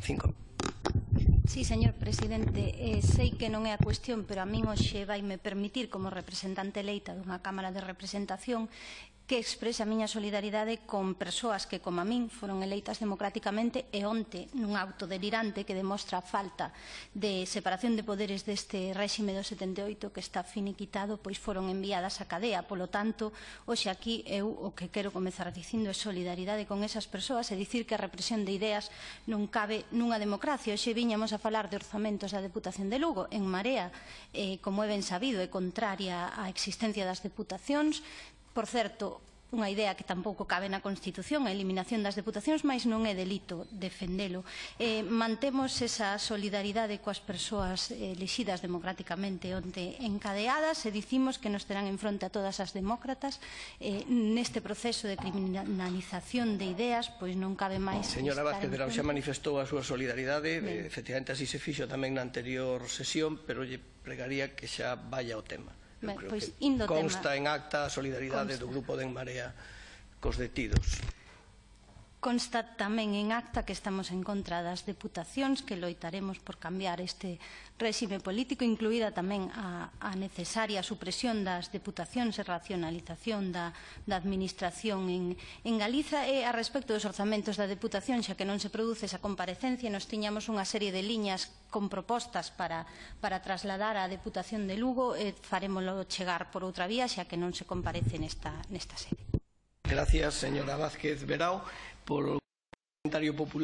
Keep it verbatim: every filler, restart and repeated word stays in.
Cinco. Sí, señor presidente, eh, sei que non é a cuestión, pero a min hoxe vaime permitir, como representante eleita dunha Cámara de Representación, que exprese a miña solidaridade con persoas que, como a min, foron eleitas democráticamente e onte, nun auto delirante que demostra a falta de separación de poderes deste réxime do setenta e oito que está finiquitado, pois foron enviadas á cadea. Polo tanto, hoxe aquí eu o que quero comezar dicindo é solidaridade con esas persoas e dicir que a represión de ideas non cabe nunha democracia. Hoxe viñamos a falar de orzamentos da Deputación de Lugo. En Marea, eh, como é ben sabido, é contraria á existencia das deputacións. Por certo, unha idea que tampouco cabe na Constitución, a eliminación das deputacións, mais non é delito defendelo. Eh, mantemos esa solidaridade coas persoas elexidas democráticamente onte encadeadas e dicimos que nos terán en fronte a todas as demócratas. Eh, neste proceso de criminalización de ideas, pois non cabe máis... Señora Vázquez Verao xa manifestou a súa solidaridade, eh, efectivamente así se fixo tamén na anterior sesión, pero lle pregaría que xa vaya ao tema. Ben, creo pois, que indo consta tema. en acta a solidaridade Consta. do Grupo de En Marea cos detidos. Consta tamén en acta que estamos en contra das deputacións, que loitaremos por cambiar este réxime político, incluída tamén a, a necesaria supresión das deputacións e racionalización da, da administración en, en Galiza. E a respecto dos orzamentos da deputación, xa que non se produce esa comparecencia, nos tiñamos unha serie de liñas con propostas para, para trasladar a Deputación de Lugo, e farémolo chegar por outra vía, xa que non se comparece nesta, nesta sede. Gracias, señora Vázquez Verao, por o comentario popular.